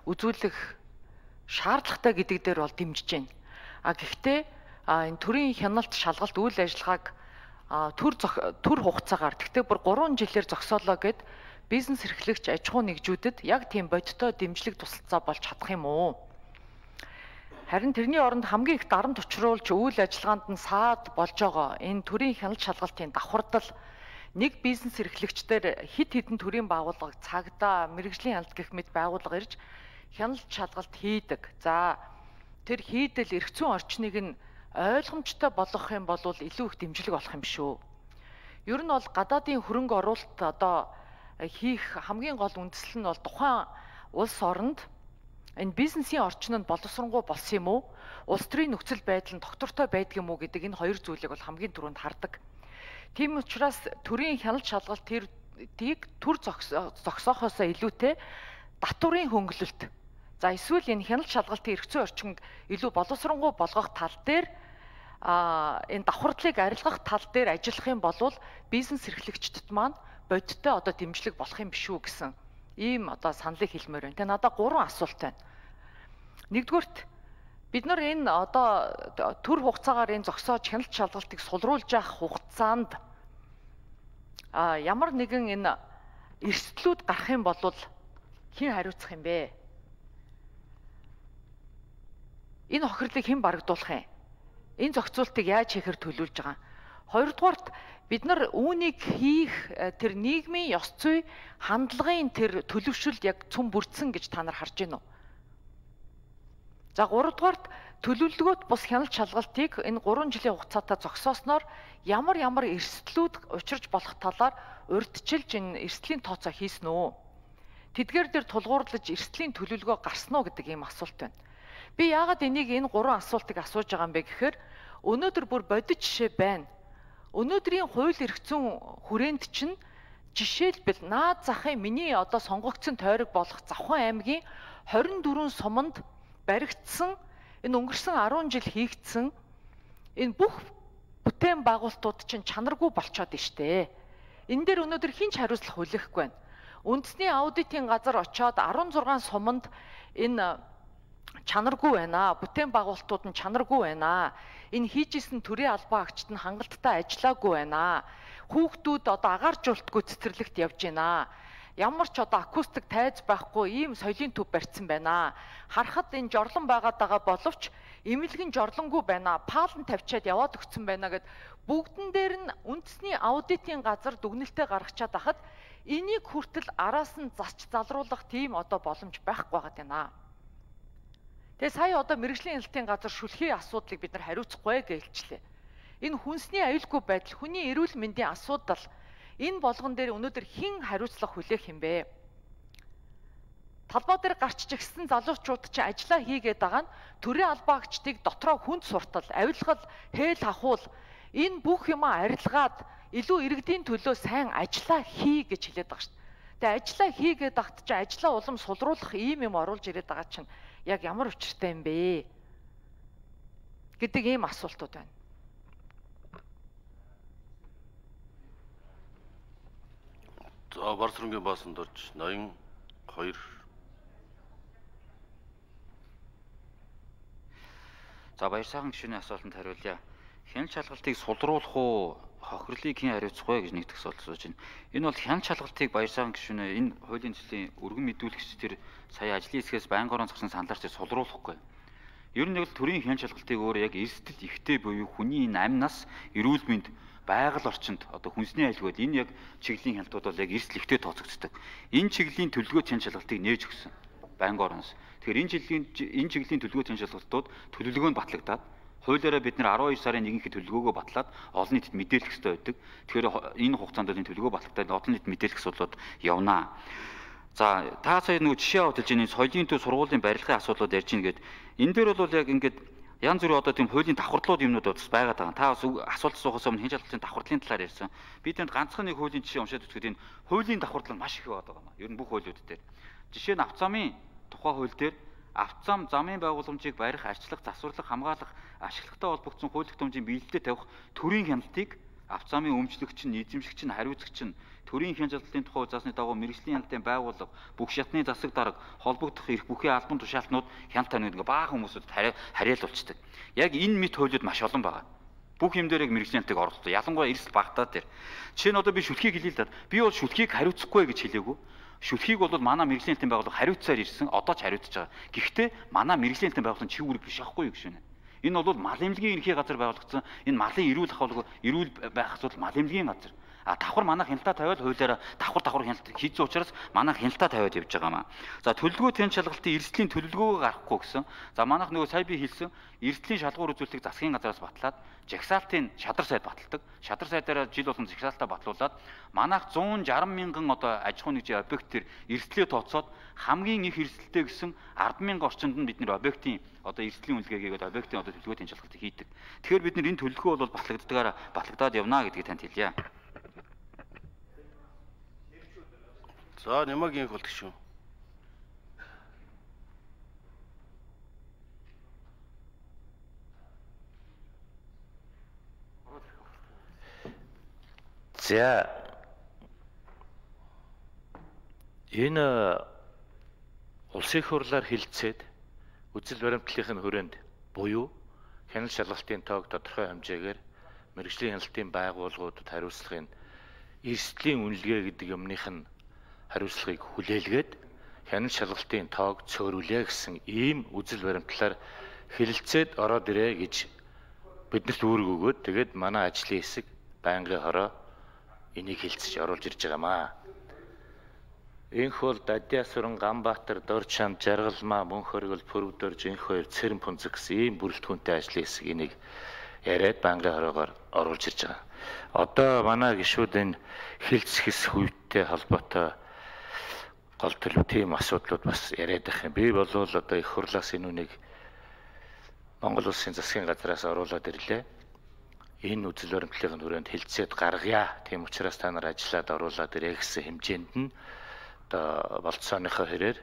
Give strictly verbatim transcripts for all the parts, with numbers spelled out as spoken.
үзүүлэх шаардлагатай гэдэг дээр бол дэмжиж байна. А гэхдээ энэ төрийн хяналт шалгалт үйл ажиллагааг төр төр хугацаагаар тэгтээ бүр гурван жилээр зогсоолоо гэд бизнес эрхлэгч аж ахуй нэгжүүдэд яг тийм бодиттой дэмжлэг тусалцаа болж чадах юм уу? Харин тэрний оронд хамгийн их дарамт учруулж үйл ажиллагаанд нь саад болж байгаа энэ төрийн хяналт шалгалтын давхардал нэг бизнес эрхлэгчдэр хид хідэн төрийн байгууллага цагдаа мэрэгжлийн хяналт гэх мэт байгууллага ирж хяналт шалгалт хийдэг. За тэр хийдэл эрх зүйн орчныг нь ойлгомжтой болгох юм бол илүү их дэмжлэг болох юм шүү. Ер нь бол гадаадын хөрөнгө оруулалт одоо хийх хамгийн гол үндэслэл нь бол тухайн улс оронд энэ бизнесийн орчин нь боловсронгуй болсон юм уу? Улс төрийн нөхцөл байдал нь доктортой байдаг юм уу гэдэг энэ хоёр зүйлийг бол хамгийн түрүүнд хардаг. Тийм учраас төрийн хяналт шалгалт тэрийг төр зогсоохоосоо илүүтэй татврын хөнгөлөлт. За эсвэл энэ хяналт шалгалтын эрх зүйн орчинг илүү боловсронгуй болгох тал дээр а энэ давхардлыг арилгах тал дээр ажиллах юм бол бизнес эрхлэгчдэд маань бодиттой одоо дэмжлэг болох юм биш үү гэсэн ийм одоо саналыг хэлмээр байна. Тэгээ надад гурван асуулт байна. Нэгдүгürt бид нар энэ одоо төр хугацаагаар энэ зогсоож хяналт шалгалтыг сулруулж явах хугацаанд а ямар нэгэн энэ эрсдлүүд гарах юм бол хэн хариуцах юм бэ? Энэ хохирлыг хэн барагдуулах юм? Энэ зохицуултыг яаж хийхээр төлөвлөж байгаа? Хоёрдугаарт бид нар үүнийг хийх тэр нийгмийн ёс зүй хандлагын тэр төлөвшөлд яг цөм бүрдсэн гэж та нар харж байна уу? За гуравдугаарт төлөвлөгөөт бус хяналт шалгалтыг энэ гурван жилийн хугацаатай зогсоосноор ямар ямар эрсдлүүд учирч болох талаар урьдчилж энэ эрсдлийн тооцоо хийсэн үү? Тэдгээр дээр тулгуурлаж эрсдлийн төлөвлөгөө гарсан уу гэдэг ийм асуулт байна. Би яагаад энийг энэ гурван асуултыг асууж байгаа юм бэ гэхээр өнөөдөр бүр бодит жишээ байна. Өнөөдрийн хууль эрх зүйн хүрээнд чинь жишээлбэл наад захын миний одоо сонгогдсон тойрог болох Завхан аймгийн хорин дөрвөн суманд баригдсан энэ өнгөрсөн арван жил хийгдсэн энэ бүх бүтээн байгуулалтууд чинь чанаргүй болчиход штэ. Энэ дээр өнөөдөр хинч хариуцлах хүлээхгүй байна. Үндэсний аудитын газар очоод арван зургаан суманд энэ чанаргүй байна. Бүтээн байгуулалтууд нь чанаргүй байна. Энэ хийжсэн төрийн албан агчид нь хангалттай ажиллаагүй байна. Хүүхдүүд одоо агааржуултгүй цэцэрлэгт явж байна. Ямар ч одоо акустик тайз байхгүй ийм соёлын төв барьсан байна. Харахад энэ жорлон байгаад байгаа боловч эмнэлгэн жорлонгүй байна. Паалн тавьчаад яваад өгсөн байна гэд бүгдэн дээр нь үндэсний аудитын газар дүгнэлтээ гаргачаад ахад энийг хүртэл араас нь засч залруулах тийм одоо боломж байхгүй байгаад байна. Тэгээ сая одоо мэрэгжлийн хяналтын газар шүлхийн асуудлыг бид нар хариуцахгүй гэлжлээ. Энэ хүнсний аюулгүй байдал, хүний эрүүл мэндийн асуудал энэ болгон дээр өнөөдөр хэн хариуцлах хүлээх юм бэ? Талбай дээр гарч чигсэн залуучууд чинь ажиллаа хийгээд байгаа нь төрийн албан агчдыг дотроо хүнд суртал, авилгал, хээл хахуул энэ бүх юмаа арилгаад илүү иргэдийн төлөө сайн ажиллаа хий гэж хэлээд байгаа шүү дээ. Тэгээ ажиллаа хийгээд багт чинь ажиллаа улам сулруулах ийм юм оруулж ирээд байгаа чинь яг ямар учиртай юм бэ гэдэг ийм асуултууд байна. За Барсрынгийн баасанд орж ноён хоёр. За баяр сайхан гишүүний асуултанд хариулъя. Хяналт шалгалтыг сулруулах уу, хохирлыг хэн хариуцах вэ гэж нэгдэх асуулт сууж байна. Энэ бол хяналт шалгалтыг баяр сайхан гишүүнээ энэ хуулийн төслийн өргөн мэдүүлэгч тэр сая ажлын хэсгээс байнгын орон зогсон саналаар ч сулруулахгүй. Ер нь бол төрийн хяналт шалгалтыг өөр яг эрсдэл ихтэй буюу хүний энэ амь нас, эрүүл мэнд, байгаль орчинд одоо хүнсний аюулгүй энэ яг чиглэлийн хяналтууд бол яг эрсдэл ихтэй тооцогддог. Энэ чиглэлийн төлөвлөгөө хяналт шалгалтыг нээж өгсөн байнгын ороноос. Тэгэхээр энэ жилийн энэ чиглэлийн төлөвлөгөө хяналт шалгалтууд төлөвлөгөө нь батлагдаад хуулиараа бид нэр арван хоёр сарын нэгнийхээ төлөвлөгөөгөө батлаад олон нийтэд мэдээлэх ёстой байдаг. Тэгэхээр энэ хугацаанд энэ төлөвлөгөө батлагдаад олон нийтэд мэдээлэх асуудлууд явнаа. За та сая нөгөө жишээ авалж энэ соёлын төв сургуулийн барилгын асуудлууд ярьж ийн гээд энэ дээр бол яг ингээд янз бүрийн одоо тийм хуулийн давхардлууд юмнууд бас байгаад байгаа. Та бас асуулт асуухаас өмнө хяналт шалгалтын давхардлын талаар ярьсан. Би тэнд ганцхан нэг хуулийн жишээ уншаад үзэхэд энэ хуулийн давхарлал маш их байдаг юм аа. Ер нь бүх хуулиуд дээр. Жишээ нь авто замын тухай хууль дээр авто зам замын байгууламжийг барих, арчлах, засварлах, хамгаалах, ашиглагтай холбогдсон хууль тогтоомжийн биелэлтэд тавих төрийн хяналтыг авто замын өмчлөгч нь, эзэмшигч нь, хариуцагч нь төрийн хян чадлын тухай заасны дагуу мэрэгжлийн хяналтын байгууллага, бүх шатны засаг дарга, холбогдох эрх бүхий албан тушаалтнууд хяналт тавьна гэдэг баахан хүмүүсүүд хариалуулцдаг. Яг энэ мэт хуулиуд маш олон байгаа. Бүх юм дээр яг мэрэгжлийн хяналтыг оруулдаг. Ялангуяа эрсдэл багтаа дээр. Жишээ нь одоо би шүлхийг хэлээ л да. Би бол шүлхийг хариуцахгүй гэж хэлээгүй. Шүлхийг бол манай мэрэгжлийн хяналтын байгууллага хариуцсаар ирсэн. Одоо ч хариуцж байгаа. Гэхдээ манай мэрэгжлийн хяналтын байгууллага чи үүрэг биш аахгүй юу гэж байна. Энэ бол мал эмнэлгийн ерхий газар байгуулагдсан. Энэ малын эрүүл ахуйг эрүүл байх асуудал мал эмнэлгийн газар. А давхар манайх хяналтаа тавиад хуулиараа давхар давхар хяналт хийсэн учраас манайх хяналтаа тавиад явж байгаа маа. За төлөвлөгөө тэн шалгалтын эрсдлийн төлөвлөгөөгөө гаргахгүй гэсэн. За манайх нөгөө сая би хэлсэн эрсдлийн шалгуур үзүүлэлтийг засгийн газраас батлаад жагсаалтын шадар сайд баталдаг. Шадар сайдаараа жил болгон жагсаалтаа батлуулаад манайх зуун шарсан мянган одоо аж ахуйн нэгжийн объект төр эрсдлээ тооцоод хамгийн их эрсдэлтэй гэсэн ард мянган орчинд нь бид нэр объектын одоо эрсдлийн үнэлгээгээд объектын одоо төлөвлөгөө тэн шалгалтыг хийдэг. Тэгэхээр бид нэр энэ төлөвлөгөө бол батлагддагаараа батлагдаад явна гэдгийг танд хэлье. За нэмэг инх болдог шүү. За энэ улсын их хурлаар хэлэлцээд үзэл баримтлалын хүрээнд буюу хяналт шалгалтын тоог тодорхой хэмжээгээр мэрэгжлийн хяналтын байгууллагуудад хариуцлагын эрсдлийн үнэлгээ гэдэг юмных нь хариуцлагыг хүлээлгээд хяналт шалгалтын тоог цөөрүүлээ гэсэн ийм үзэл баримтлалаар хэлэлцээд ороод ирээ гэж биднэрт үүрэг өгөөд тэгээд манай ажлын хэсэг байнгын хороо энийг хэлцэж оруулж ирж байгаамаа. Инх бол Дадиасуран, Ганбаатар, Дорчам, Жаргалмаа, Мөнхөргөл, Пүрвдор, Жинх хоёр, Цэрэн Пунцэг гэсэн ийм бүрэлдэхүүнтэй ажлын хэсэг энийг яриад байнгын хороогоор оруулж ирж байгаа. Одоо манай гишүүд энэ хэлцэхс хүйттэй холбоотой гол төлөв тийм асуудлууд бас яриад байх юм. Би бол одоо их хурлаас энэ үнийг Монгол Улсын засгийн газраас оруулаад ирлээ. Энэ үзэл баримтлалын хүрээнд хэлцээд гаргая. Тийм учраас та нар ажиллаад оруулаад ирээ гэсэн хэмжээнд нь одоо болцооныхоо хэрээр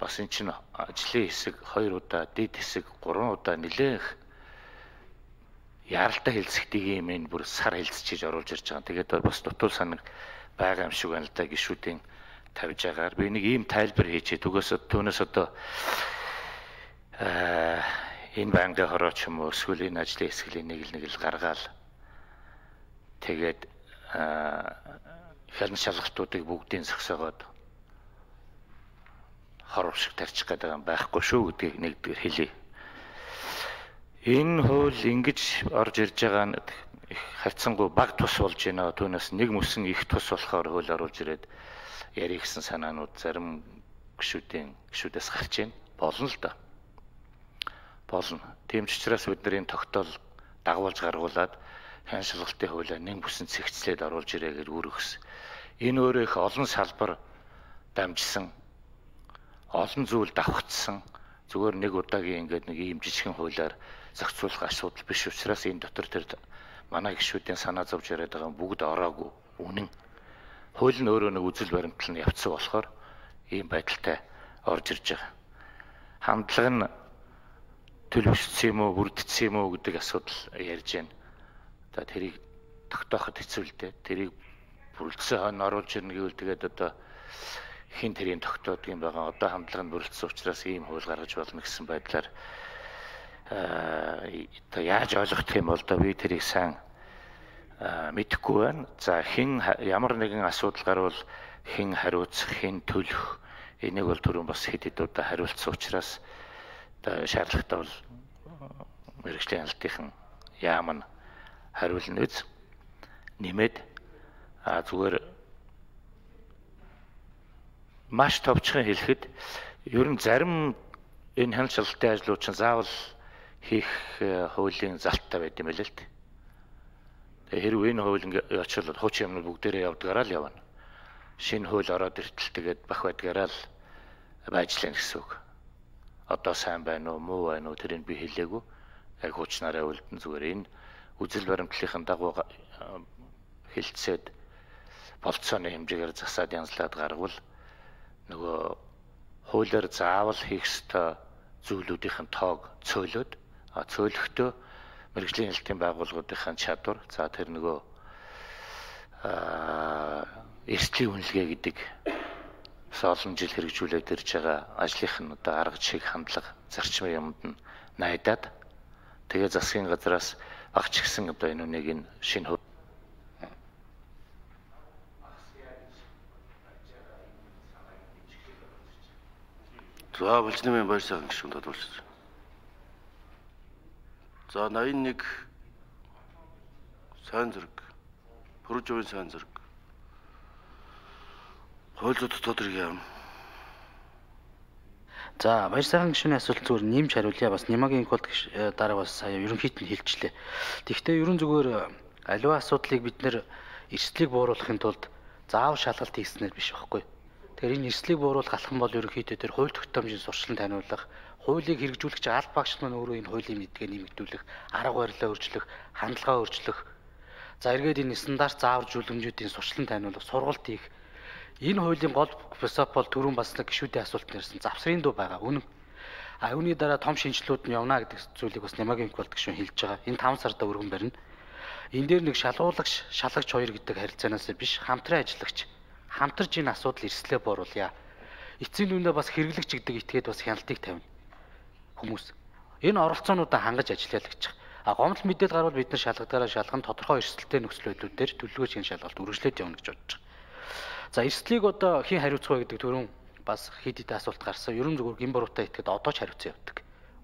бас эн чинь ажлын хэсэг хоёр удаа, дэд хэсэг гурван удаа нэлээх яралтай хэлцэхтийг юм энэ бүр сар хэлцэж оруулж ирж байгаа. Тэгээд бас дутуул санаг байгаа юм шиг байна л да гишүүдийн тавьж байгаагаар би нэг ийм тайлбар хийчээ. Түгээс түүнээс одоо аа энэ байнгын хороо ч юм уу эсвэл энэ ажлын хэсгийн нэг л нэг л гаргаал. Тэгээд хяналт шалгалтуудыг бүгдийг зогсоогоод хоров шиг тарчих гэдэг юм байхгүй шүү гэдгийг нэгдүгээр хэлье. Энэ хууль ингэж орж ирж байгаа нь харьцангуй баг тус болж байна. Түүнээс нэг мөсөн их тус болохоор хууль оруулж ирээд ярих гэсэн санаанууд зарим гишүүдийн гишүүдээс гарч байна. Болно л да. Болно. Тийм ч учраас бид нар энэ тогтоол дагуулж гаргуулад хяналт шалгалтын хуулиа нэг бүсэн цэгцлээд оруулж ирээ гэж үүргэсэн. Энэ өөрөө их олон салбар дамжсан, олон зүйл давхцсан. Зүгээр нэг удаагийн ингээд нэг ийм жижигхэн хуулиар зохицуулах асуудал биш учраас энэ дотор тэр манай гишүүдийн санаа зовж яриад байгаа бүгд ороогүй. Үнэн. Хууль нь өөрөө нэг үзэл баримтлал нь явцсан болохоор ийм байдалтай орж ирж байгаа. Хандлага нь төлөвшсөн юм уу, бүрдсэн юм уу гэдэг асуудал ярьж байна. Одоо тэрийг тогтооход хэцүү л дээ. Тэрийг бүрдсэн хойно оруулж ирнэ гэвэл тэгээд одоо хин тэрийн тогтоодог юм байгаа. Одоо хандлага нь бүрдсэн учраас ийм хууль гаргаж болно гэсэн байдлаар аа яаж ойлгох юм бол да би тэрийг сайн мэдэхгүй байна. За хин ямар нэгэн асуудал гарвал хин хариуцах, хин төлөх энийг бол түрүүн бас хэд хэд удаа хариулсан учраас шаардлагатай бол мэрэгжлийн хяналтын яам нь хариулна үз нэмээд а зүгээр маш товчхон хэлэхэд ер нь зарим энэ хяналт шалгалтын ажлууд чинь заавал хийх хуулийн залттай байт юм байлээ л дээ. Тэгээ хэрвээ энэ хууль ингээ очихвол хуучин юмнууд бүгдээрээ явдгаараа л явна. Шинэ хууль ороод иртэл тэгээд бах байдгаараа л байжлаа гэсэн үг. Одоо сайн байна уу, муу байна уу тэрийг би хэлээгүй. Яг хуучнаараа үлдэн зүгээр энэ үзэл баримтлалын дагуу хэлцээд болцооны хэмжээгээр засаад янзлаад гаргавал нөгөө хуулиар заавал хийх ёстой зүйлүүдийн тоог цөөлөд а цөөлөхдөө мэрэгжлийн хяналтын байгууллагуудын чадвар за тэр нөгөө аа эрсдлийн үнэлгээ гэдэг олон жил хэрэгжүүлээд ирж байгаа ажлынх нь одоо арга жишээ хандлага зарчмын юмд нь найдаад тэгээ засгийн газраас багч гисэн одоо энэ үнийг энэ шинэ За булчны баяр сайхан гишүүн тодорхойлж. За восемьдесят один сайн зэрэг Пүрэв жавын сайн зэрэг хууль зүйн тодорхой юм. За баяр сайхан гишүүний асуулт зүгээр нэмж хариулъя. Бас Немагийн инколд дараа бас сая ерөнхийд нь хэлчихлээ. Тэгэхдээ ерөн зүгээр аливаа асуудлыг бид нэр эрсдлийг бууруулахын тулд заав шалгалт хийснээр биш байхгүй. Тэгэхээр энэ эрсдлийг бууруулах алхам бол ерөнхийдөө тэр хууль тогтоомжийн сурчлан таниулах, хуулийг хэрэгжүүлэх чинь аль багш маань өөрөө энэ хуулийн мэдгээ нэмэгдүүлэх, арга барилаа өөрчлөх, хандлагаа өөрчлөх. За эргээд энэ стандарт заавар жуулмжуудын сурчлан таниулах, сургалт хийх. Энэ хуулийн гол принцип бол түрүүн бас нэг гишүүдийн асуулт нэрсэн завсрын дуу байгаа. Үнэн. А үүний дараа том шинжилгүүд нь явна гэдэг зүйлийг бас Немагийн инколд гишүүн хэлж байгаа. Энэ таван сарда өргөн барина. Энэ дээр нэг шалгуулагч, шалагч хоёр гэдэг харилцаанаас биш, хамтран ажиллагч хамтарч энэ асуудал эрслээ бууруулъя. Эцсийн дүндээ бас хэрэглэгч гэдэг этгээд бас хяналтыг тавина. Хүмүүс. Энэ оролцоонуудаа хангаж ажиллая л гэж байгаа. А гомдол мэдээлэл гарвал бид нар шалгадаараа шалган тодорхой эрсдэлтэй нөхцөл байдлуудаар төлөвлөгөөч энэ шалгалт үргэлжлээд явна гэж бодож байгаа. За эрсдлийг одоо хэн хариуцах вэ гэдэг түрүүн бас хэд хэдэн асуулт гарсан. Ерөн зүгээр гин буруутай этгээд одоо ч хариуцсан явдаг.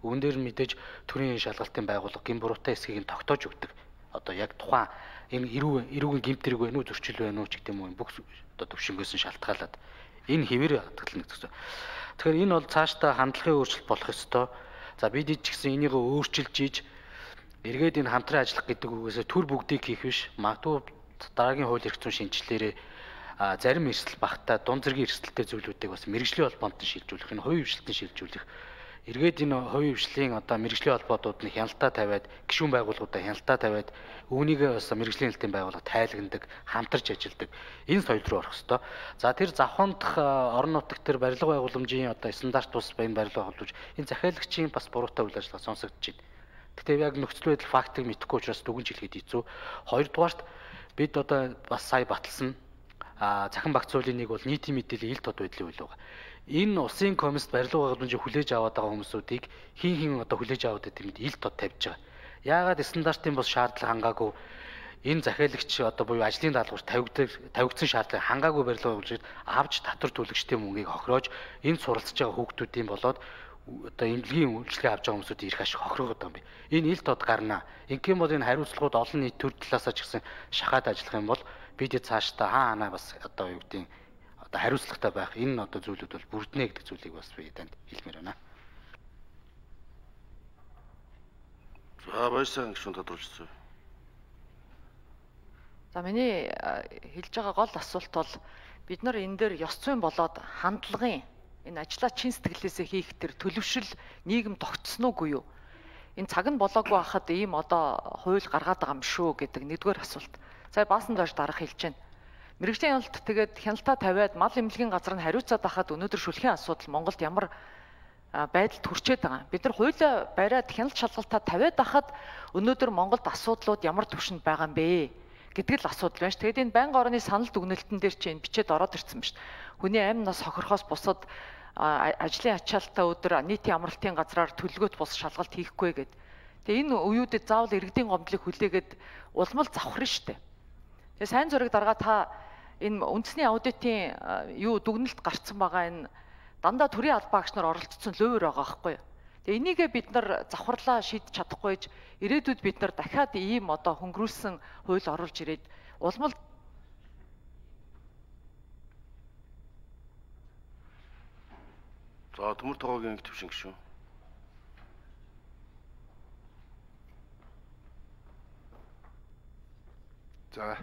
Үүн дээр нь мэдээж төрийн шалгалтын байгууллага гин буруутай эсхийг нь тогтоож өгдөг. Одоо яг тухайн энэ эрүүг эрүүгийн гимтрэг вэ нүү зөрчил вэ нүү ч гэдэг юм уу бүх одоо төвшнгөөс нь шалтгаалаад энэ хэвээр хатгална гэсэн. Тэгэхээр энэ бол цаашдаа хандлагын өөрчлөлт болох ёстой. За бид ч гэсэн энийг өөрчилж ийж эргээд энэ хамтран ажиллах гэдэг үгээс төр бүгдийг хийх биш. Магадгүй дараагийн хууль эрх зүйн шинжилгээрээ зарим эрсдэл багтаа дунд зэргийн эрсдэлтэй зүйлүүдийг бас мэргэжлийн холбоонд нь шилжүүлэх, энэ хувийн хвшилтанд шилжүүлэх. Эргээд энэ хувийн хвшлийн одоо мэргэжлийн холбоотууд нь хяналтаа тавиад, гишүүн байгууллагуудаа хяналтаа тавиад, үүнийгээ бас мэргэжлийн хэлтийн байгууллага тайлагнадаг, хамтарч ажилладаг. Энэ соёл руу орох ёстой. За тэр завхандах орон нутагт тэр барилга байгууламжийн одоо стандарт бус баян барилга холбож энэ захиалагчийн бас буруутай үйл ажиллагаа сонсогдож байна. Гэхдээ яг нөхцөл байдал фактыг мэдэхгүй учраас дүгнж хэлэхэд хэцүү. Хоёрдугаарт бид одоо бас сая баталсан а захин багц хуулийн нэг бол нийтийн мэдээллийн ил тод байдлын хууль байгаа. Энэ улсын комист барилга байгууламжийг хүлээж аваад байгаа хүмүүсүүдийг хин хин одоо хүлээж аваад гэдэг мэд ил тод тавьж байгаа. Яагаад стандартын бос шаардлага хангаагүй энэ захиалагч одоо буюу ажлын даалгавар тавигдсан тавигдсан шаардлага хангаагүй барилга байгууламжид авч татвар төлөгчдийн мөнгийг хохироож энэ суралцж байгаа хүүхдүүдийн болоод одоо эмнэлгийн үйлчлэгээ авч байгаа хүмүүсүүд ирэх ашиг хохироод байгаа юм би. Энэ ил тод гарна. Ингээм бол энэ хариуцлагууд олон нийт төр талаасаа ч гэсэн шахаад ажиллах юм бол бид цаашдаа хаа ханаа бас одоо юу гэдэг одоо хариуцлагатай байх энэ одоо зүйлүүд бол бүрднэ гэдэг зүйлийг бас би танд хэлмээр байна. За баяр сайхан гишүүн тодорхойлсон. За миний хэлж байгаа гол асуулт бол бид нар энэ дээр ёс зүйн болоод хандлагын энэ ажлаа чин сэтгэлээсээ хийх тэр төлөвшил нийгэм тогтсон уугүй юу? Энэ цаг нь болоогүй хахад ийм одоо хууль гаргаад байгаа юм шүү гэдэг нэгдүгээр асуулт. За баасан доош дарах хэлж байна. Мэргэжлийн хяналт тэгээд хяналтаа тавиад мал эмнэлгийн газар нь хариуцаад байхад өнөөдөр шүлхийн асуудал Монголд ямар байдалд хүрчээд байгаа. Бид нар хуулиа бариад хяналт шалгалтаа тавиад байхад өнөөдөр Монголд асуудлууд ямар түвшинд байгаа юм бэ гэдэг л асуудал байна ш. Тэгээд энэ байнгын орны санал дүгнэлтэн дээр чинь бичээд ороод ирсэн ба ш. Хүний амь нас хохирохоос бусад ажлын ачаалтаа өдөр нийтийн амралтын газраар төлөвлөгөөт бус шалгалт хийхгүй гэд. Тэгээ энэ үеүүдэд заавал иргэдийн гомдлыг хүлээгээд улмал завхрын штэ. Тэгээ сайн зураг дарга та энэ үндэсний аудитын юу дүгнэлт гарцсан байгаа энэ дандаа төрийн албаа агч нар оролцсон лөөвөр байгаа байхгүй юу. Тэгээ энийгээ бид нар завхарлаа шийдэж чадахгүйж ирээдүйд бид нар дахиад ийм одоо хөнгөрүүлсэн хууль оруулж ирээд улмал За төмөр тогоогийн төвшин гişүү. За